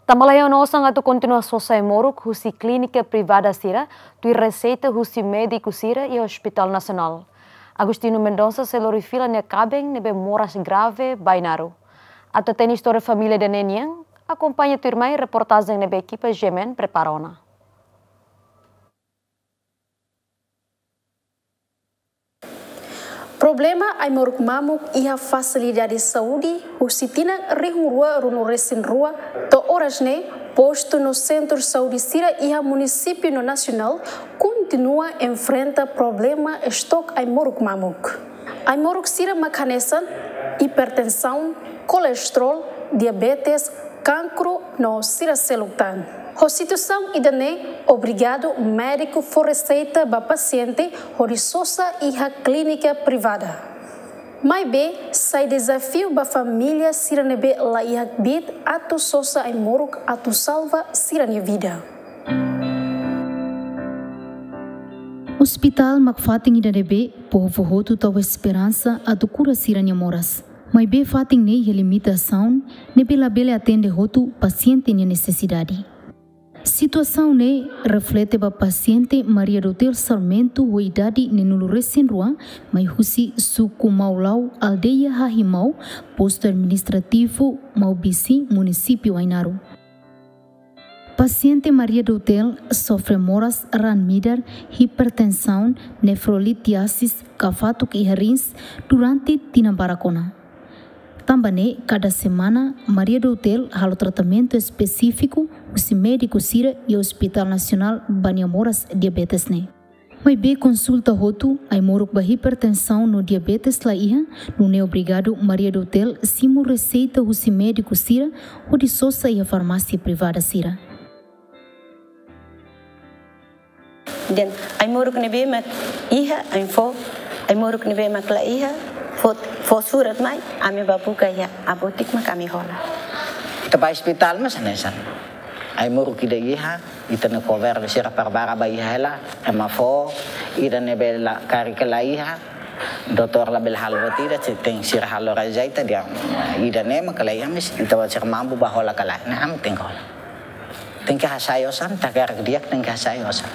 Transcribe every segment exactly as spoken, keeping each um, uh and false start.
Tanba laiha ona osan atu kontinua sosa ai-moruk husi klínika privada sira, tuir reseita husi médiku sira iha Hospital Nasionál. Agostinho Mendonça sei lori fila nia kaben ne'ebé moras grave ba Ainaro. Atu hatene istória família ida-ne'e nian, akompaña tuirmai reportajen ne'ebé ekipa G M N prepara ona. Problema ai-moruk mamuk iha fasilidade saúde husi tinan rihun rua ruanulu resin rua to'o oras ne'e, postu no sentru saúde sira iha munisípiu no nasionál kontinua enfrenta problema estok ai-moruk mamuk. Ai-moruk sira mak hanesan hipertensaun, kolesterol, diabetes, kankru no sira seluk tan. Ho situasaun ida-ne'e, obrigadu médiku fó reseita ba pasiente hodi sosa iha klínika privada. Maibé, sai dezafiu ba família sira ne'ebé la iha kbiit atu sosa ai-moruk atu salva sira-nia vida. Hospital mak fatin ida ne'ebé povu hotu tau esperansa atu kura sira-nia moras. Maibé fatin ne'e iha limitasaun ne'ebé labele atende hotu pasiente nia nesesidade. Situasaun ne'e reflete ba pasiente Maria Dotel Sarmento ho idade neenulu resin rua, mai husi suku Maulau, aldeia Hahimau, postu administrativu Maubisi, munisípiu Ainaro. Pasiente Maria Dotel sofre moras raan-midar, hipertensaun, nefrolitiasis, kafatuk iha rins durante tinan barak ona. Tanba ne'e, kada semana, Maria Dotel halo tratamentu espesífiku husi médiku sira iha Hospital Nasionál ba nia moras diabetes ne'e. Maibé konsulta hotu, ai-moruk ba hipertensaun no diabetes la iha, nune'e obrigadu Maria Dotel simu reseita husi médiku sira hodi sosa iha farmásia privada sira. Dehan ai-moruk ne'ebé mak iha, ami fó, ai-moruk ne'ebé mak la iha, fó, fó surat mai, ami bá buka iha apotek mak ami hola. Ita bá ospitál mas hanesan. Ai-moruk ida iha, ita-nia governu sira prepara ba iha hela, ema fó, ida ne'ebé la, karik la iha, doutór labele halo buat ida, se tenke sira halo reseita dehan ida-ne'e mak la iha, mas ita-boot sira mampu bá hola ka lae, ne'e ami tenke hola. Tenke hasai osan, ita hakarak di'ak tenke hasai osan.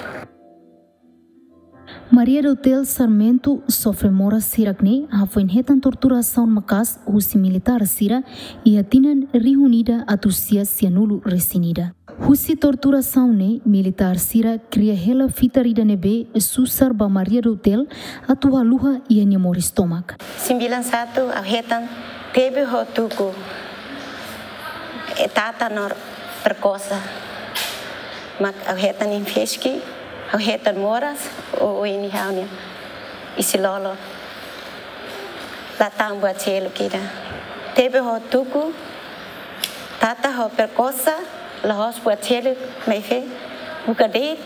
Maria Dotel Sarmento sofre moras hirak ne'e hafoin hetan torturasaun maka'as husi militár sira iha tinan rihun ida atus sia sianulu resin ida. Husi torturasaun ne'e, militár sira kria hela fitar ida ne'ebé susar ba Maria Dotel atu haluha iha nia moris tomak. Sembilan satu, ha'u hetan tebe ho tuku, eh, tata no perkosa. Mak ha'u hetan infeski, ha'u hetan moras, o, o ini ha'u-nia isin-lolon. La tau buat seluk ida. Tebe ho tuku, tata ho perkosa, la'ós buat seluk, maibé buka de'it,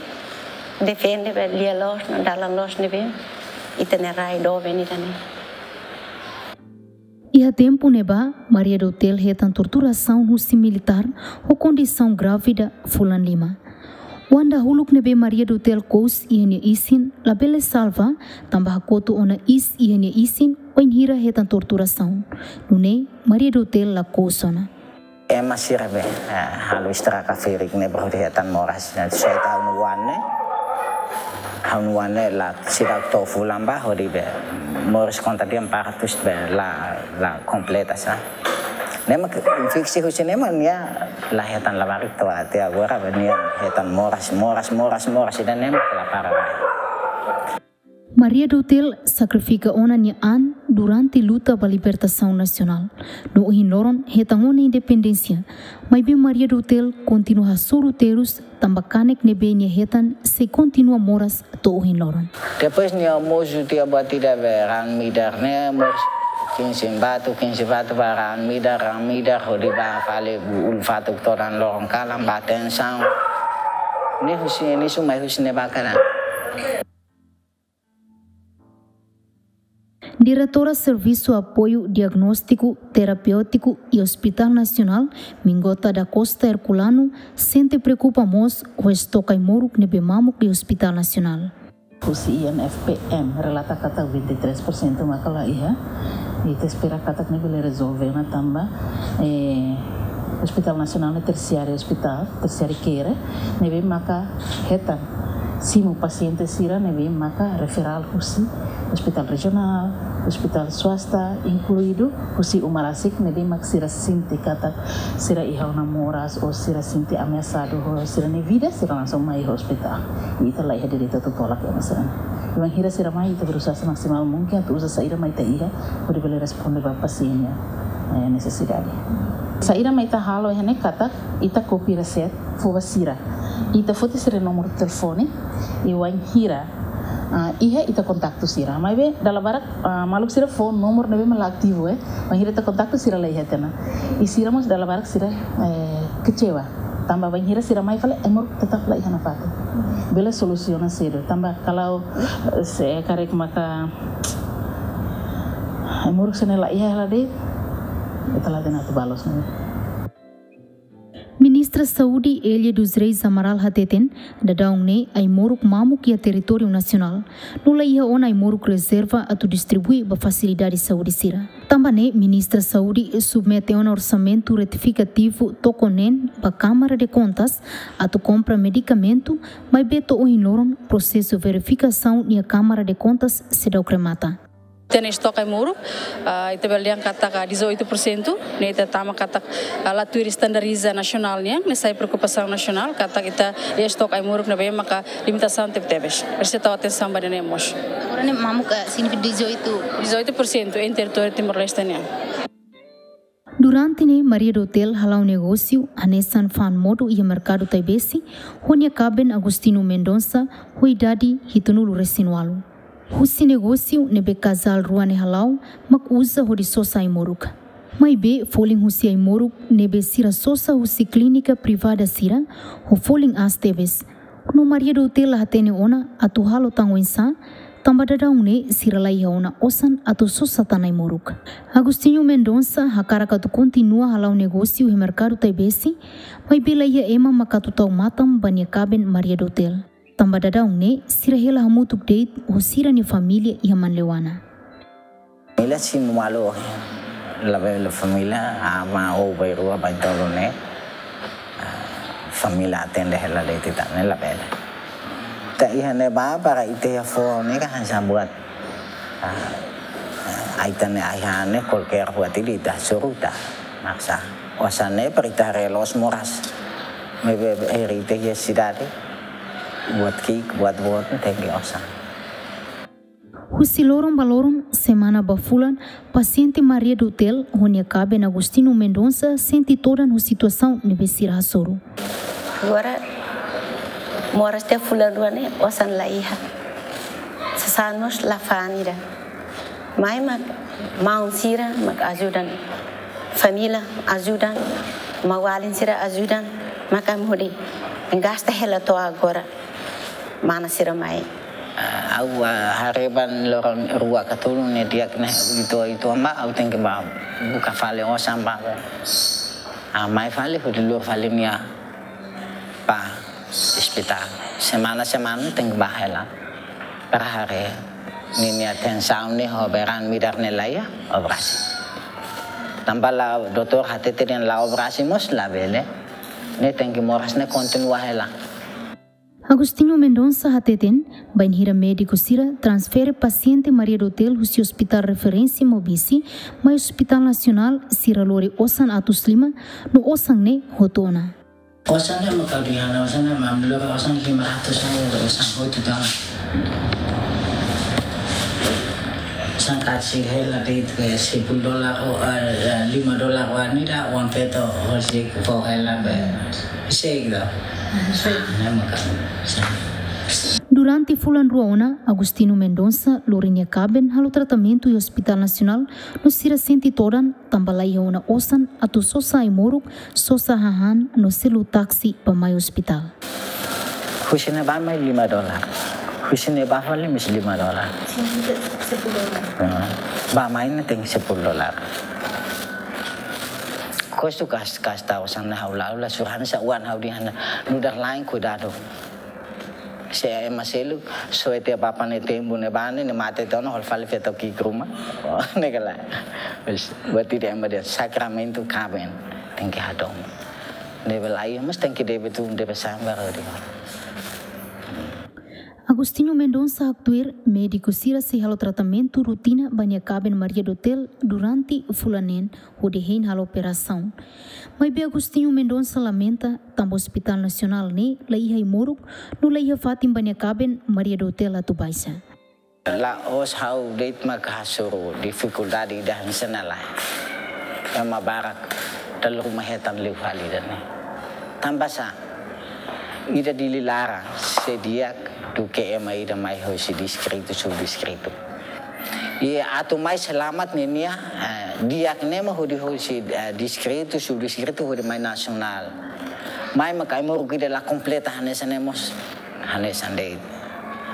defende ba lia loos no dalan loos ne'ebé ita-nia rai doben ida-ne'e. Iha tempu ne'ebá, Maria Dotel hetan torturasaun husi militár ho kondisaun grávida fulan lima. Oan dahuluk ne'ebé Maria Dotel kous iha nia isin labele salva, tanba hakotu ona iis iha nia isin, wainhira hetan torturasaun. Nune'e, Maria Dotel la kous ona. Ema sira be, eh, halo estraga ferik ne'e baru hetan moras. Nah, sai ha'u-nia oan ne'e. Ha'u-nia oan ne'e la seidauk to'o fulan ba hodi be moras konta dehan partus be la, la kompleta sa. Ne'e mak infeksi husi ne'e mak nia la hetan labarik to'o até agora be nia hetan moras, moras, moras, moras, ida-ne'e mak la para ba. Maria Dotel sakrifika ona nia an durante luta ba libertasaun nasionál. No ohin loron hetan ona independénsia. Maibé Maria Dotel kontinua hasoru terus tanba kanek ne'ebé nia hetan sei kontinua moras to'o ohin loron. Depois nia mosu tiha buat ida be raan-midar ne'e mós kinsin batu, kinsin batu ba raan-midar, raan-midar hodi bá fali ulun-fatuk todan loron kalan ba tensaun. Ne'e husi, ne'e sumai husi ne'ebá karik. Diretora Servisu Apoiu Diagnóstiku Terapeutiku iha Hospital Nasionál, Mingota da Costa Herculano, sente preokupa mós ho estok ai-moruk ne'ebé mamuk iha Hospital Nasionál. Husi I N F P M relata katak vinte e três por cento maka la iha. Ita espera katak ne'e bele rezolve ona tanba, eh, Hospital Nasionál ne'e tersiáriu ospitál, tersiáriu care, ne'ebé maka hetan simu pasiente sira ne'ebé maka referál husi ospitál rejionál, ospitál swasta, inkluidu husi uma rasik ne'ebé mak sira sente katak sira iha ona moras ou sira sente ameasadu ho sira-nia vida, sira langsung mai ospitál. I ita la iha direitu atu tolak ema sira-ne'e. Bainhira sira mai, ita berusaha semaksimal mungkin atu uza saida mak ita iha hodi bele responde ba pasiente nia, eh, nesesidade. Saida mak ita halo iha ne'e katak ita kopia resep, fó ba sira. Ita foti sira-nia númeru telefone, i bainhira, ah, iha ita kontaktu sira. Maibé dala barak, ah, maluk sira fó númeru ne'ebé mak la ativu, eh. Bainhira ita kontaktu sira la iha tiha ona. I sira mós dala barak sira, eh, kecewa. Tanba bainhira sira mai fali, ai-moruk tetap la iha nafatin. Bele solusiona sedu. Tanba kalau, eh, se karik maka ai-moruk sira-ne'e la iha hela de'it, ita la hatene atu bá loos ne'e. Ministra Saúde Elia dos Reis Amaral hateten, daudaun ne'e ai-moruk mamuk iha territóriu nasionál, no la iha ona ai-moruk rezerva atu distribui ba fasilidade saúde sira. Tanba ne'e, Ministra Saúde submete ona orsamentu retifikativu toko neen ba Câmara de Contas atu kompra medikamentu, maibé to'o ohin loron prosesu verifikasaun iha Câmara de Contas seidauk remata. Ita-nia estoke ai-moruk, ah, ita bele dehan katak dezoito por cento, ne'e ita tama katak, ah, la tuir standardiza nasionál nian, ne'e sai preokupasaun nasionál, katak ita iha estoke ai-moruk ne'ebé maka limitasaun tebetebes. Presiza tau atensaun ba ida-ne'e mós. Agora ne'e mamuk, eh, signifika dezoito. Dezoito por cento em território Timor-Leste nian. Durante ne'e Maria do Tel hala'o negósiu hanesan fa'an modo iha merkadu Taibesi, ho nia kaben Agostinho Mendonça, ho idade hitunulu resin ualu. Husi negósiu ne'ebé kazál rua ne'e hala'o, mak uza hodi sosa ai-moruk. Maibé folin husi ai-moruk ne'ebé sira sosa husi klínika privada sira, ho folin aas tebes. No Maria do Tel la hatene ona atu halo tan oinsá, tanba daudaun ne'e sira la iha ona osan atu sosa tan ai-moruk. Agostinho Mendonça hakarak atu kontinua hala'o negósiu iha merkadu Taibesi, maibé la iha ema mak atu tau matan ba nia kaben Maria do Tel. Tanba daudaun ne'e sira hela hamutuk de'it ho sira-nia família iha Manleuana. Família simu malu, labele família, ama ou bainrua baintolu ne'e. Ah, família atende hela de'it ita ne'e labele. Ita iha ne'ebá para ita iha foho ne'e kan hanesan buat, ah, ah, ita-nia ai-han ne'e kualkér buat ida ita hasoru ita. Maksa osan ne'e para ita haree loos moras. Maibé ita iha sidade, buat ki'ik, buat boot, tenke osan. Husi loron ba loron, semana ba fulan, pasiente Maria do Tel ho nia kaben Agostinho Mendonça sente todan ho situasaun ne'ebé sira hasoru. Agora, moras tiha fulan rua ne'e, osan la iha. Sasán mós la fa'an ida. Mai mak maun sira mak ajuda. Família ajuda. Maun-alin sira ajuda. Mak ami hodi gasta hela to'o agora. Mana sira mai. Ah, ha'u, ah, haree ba loron rua ka tolu ne'e di'ak ne'e, uitoan, uitoan ba, ha'u tenke ba buka fali osan ba. Ah, mai fali, hodi lori fali nia ba ospitál. Semana-semana tenke ba hela. Para haree ninia tensaun ne'e ho berat midar ne'e la iha, operasi. Tanba la, doutór hatete dehan la operasi mós labele. Ne'e tenke moras ne'e kontinua hela. Agostinho Mendonça hateten, bainhira médiku sira transfere pasiente Maria do Tel husi Hospital Referência Maubisse mai Hospital Nasionál, sira lori osan atus lima, no osan ne'e hotu ona. Osan ne'e mak ha'u dehan, osan ne'e mak ami lori osan lima ratus, osan hotu tan. Osan karik hela de'it, sepuluh dolar, oh, eh, eh, lima dolar, wani da, wan feto, hosi ko hela be. Sei gitu. Sei. Ah, ne'e mak ha'u. Durante fulan rua ona, Agostinho Mendonça lori nia kaben halo tratamentu iha Hospital Nasionál, no sira sente todan, tanba la iha ona osan atu sosa ai-moruk, sosa hahán no selu táksi ba mai ospitál. Husi ne'ebá mai lima dolar. Husi ne'ebá fali mós lima dolar. Sepuluh dolar. Ah, ba mai ne'e tenke sepuluh dolar. Kustu kas, kas tau osan ne'e ha'u la, la surhan sa wan ha'u dehan nu'udar lain kuidadu. Se ema seluk, soe tiha bapa ne'e tempu ne'ebá ne'e, ne'e mate tiha ona hodi fali feto ki'ik ruma. Oh, ne'e kala. Wes, buat ida ema dehan sakramentu kaben tenke hadomi. Debe la iha, mas tenke debe tun, debe sambar di. Agostinho Mendonça haktuir, médiku sira sei halo tratamentu rutina ba nia kaben Maria do Tel durante fulan neen hodi hein halo operasaun. Maibé Agostinho Mendonça lamenta, tanba Hospital Nasionál ne'e la iha ai-moruk, no la iha fatin ba nia kaben Maria do Tel atu baixa. La'ós ha'u de'it mak hasoru difikuldade ida hanesan ne'e lae. Ema barak dala ruma hetan liu fali ida-ne'e. Tanba sá, ida Dili laran sei di'ak duké ema ida mai hosi distritu, subdistritu. I atu mai selamat ninia, eh, di'ak ne'e mak hodi hosi, eh, distritu, subdistritu, hodi mai nasionál. Mai mak ai-moruk ida la kompleta hanesan ne'e mós. Hanesan de'it.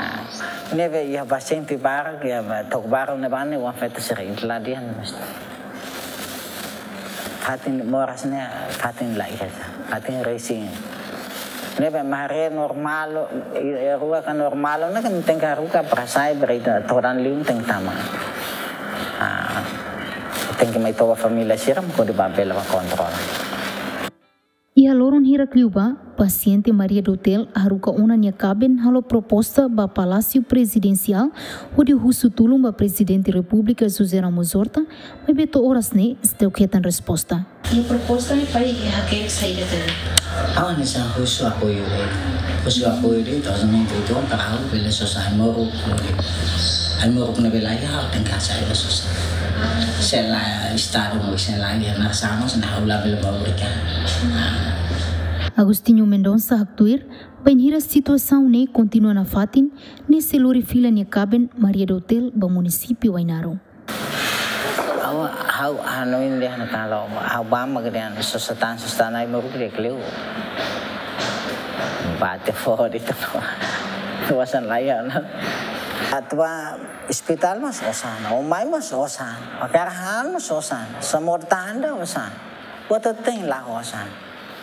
Ah, ne'ebé iha pasiente barak, iha ba, to'o barak ne'ebá ne'e oan-feto sira la di'ak mós. Fatin moras ne'e, fatin la iha, fatin resin. Ne'ebé maré normál, i, i rua ka normál, ne'e kan tenke haruka para sai, para ita todan liu tenke tama. Ah, tenke mai toba família sira, mak hodi bá bele bá kontrola. Iha loron hirak liubá, pasiente Maria do Tel haruka ona nia kaben halo proposta ba Palásiu Prezidensiál hodi husu tulun ba Prezidente Repúblika José Ramos Horta, maibé to'o oras ne'e seidauk hetan resposta. Iha proposta ne'e pai hakerek saida tadi? Ha'u hanesan husu apoiu de'it. Husu apoiu de'it, to'o somente itu para ha'u bele sosa ai-moruk. Ai-moruk ne'ebé la iha, ha'u tenke hasai ba sosa. Se la Estadu mós sei la iha, na sama, se na ha'u labele bá obriga. Agostinho Mendonça haktuir, bainhira situasaun ne'e kontinua nafatin, nia sei lori fila nia kaben Maria do Tel ba munisípiu Ainaro. Ha'u, ha'u, ha'u hanoin dehan kalau ha'u bá mak dehan sosa tan, sosa tan ai-moruk di'ak liu. Bate fó de'it. Osan la iha ona. Atu bá ospitál mós osan, o mai mós osan, o karahan mós osan, samor tanda osan. Buat hotu-hotu la osan.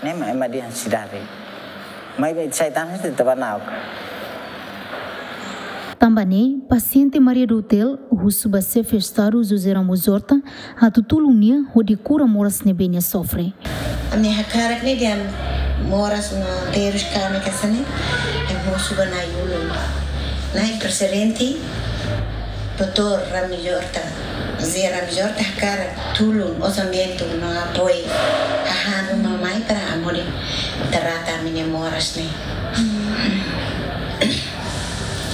Ne'e mak ema dehan sidade. Maibé sai tan se taba nau. Tanba ne'e, pasiente Maria do Tel husu ba Xefe Estadu José Ramos Horta atu tulun nia hodi kura moras ne'ebé nia sofre. Ami hakarak ne'e dehan moras no terus kami ka sini, ema husu ba na'i ulun. Na'i Prezidente, Doutór Ramos Horta, José Ramos Horta hakarak tulun, orsamentu no apoiu. Hahán uma mai para hodi trata ami-nia moras ne'e.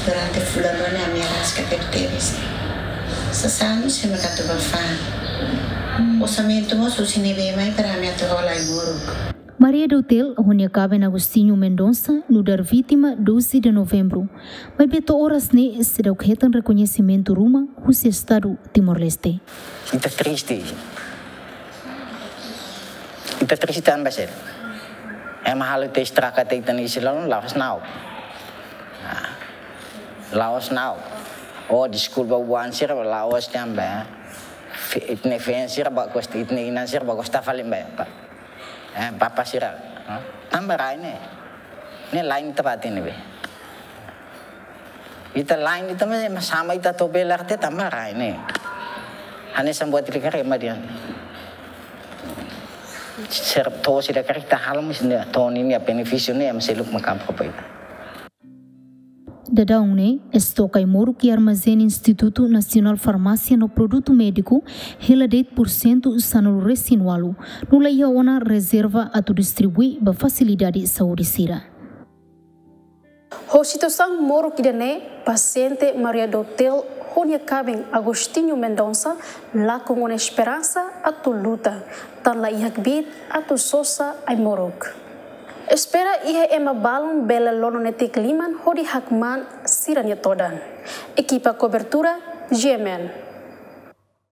Durante fulan rua ne'e ami araska tebetebes. Sasán, se me katu bafan. Orsamentu mós husi ne'ebé mai para ami atu hola ai-moruk. Maria do Tel ho nia kaben Agostinho Mendonça nu'udar vítima doze de Novembro. Maibé to'o oras ne'e seidauk hetan rekoñesimentu ruma husi Estadu Timor-Leste. Ita triste. Ita triste tanba sá? Ema halo ita estraga tiha ita-nia isin-lolon, la'ós na'ok. Ah, la'ós na'ok. Oh, deskulpa buan sira, la'ós tanba, eh. Fi-, ita-nia feen sira ba gosta, ita-nia inan sira ba gosta fali ba, eh, pa-, eh, papa sira, eh. Tanba rai ne'e. Ne'e lain ita bá hatene be. Ita lain ita me, mas sama ita to'o bele arte tanba rai ne'e. Hanesan buat ida karik ema dehan. Sira to'o sira karik ita halo mas ne'e to'o ninia benefísiu ne'e ema seluk mak abra ba ita. Daudaun ne'e, estoke ai-moruk iha armazén Institutu Nasionál Farmásia no Produtu Médiku hela de'it porsentu sanulu-resin-ualu, no la iha ona rezerva atu distribui ba fasilidade saúde sira. Ho situasaun moruk ida-ne'e, pasiente Maria do Tel ho nia kaben Agostinho Mendonça lakon ona esperansa atu luta, tan la iha kbiit atu sosa ai-moruk. Espera iha ema balun bele lono netik liman hodi hakmaan sira-nia todan. Ekipa kobertura, G M N.